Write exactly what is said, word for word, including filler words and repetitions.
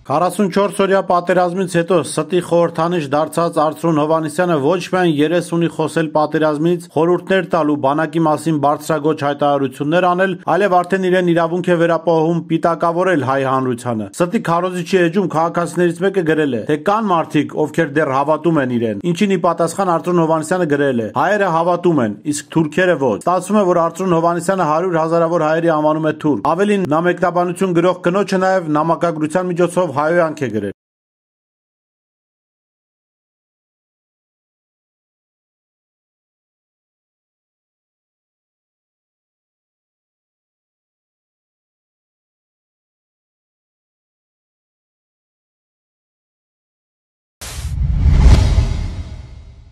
քառասունչորս-օրյա պատերազմից հետո ստի խորհրդանիշ դարձած Արծրուն Հովհաննիսյանը ոչ միայն երես ունի խոսել պատերազմից, խորհուրդներ տալ ու բանակի մասին բարձրագոչ հայտարարություններ անել, այլև արդեն իրեն իրավունք է վերապահում պիտակավորել հայ հանրությանը։ Ստի քարոզիչի էջում քաղաքացիներից մեկը գրել է, թե կան մարդիկ, ովքեր դեռ հավատում են իրեն, ինչին ի պատասխան Արծրուն Հովհաննիսյանը գրել է. հայերը հավատում են, իսկ թուրքերը ոչ։ Ստացվում է, որ Արծրուն Հովհաննիսյանը հարյուր հազարավոր հայերի անվանում է թուրք։ Ավելին, նա մեկնաբանություն գրող կնոջը նաև նամակագրության միջոցով հայոյանք է գրել։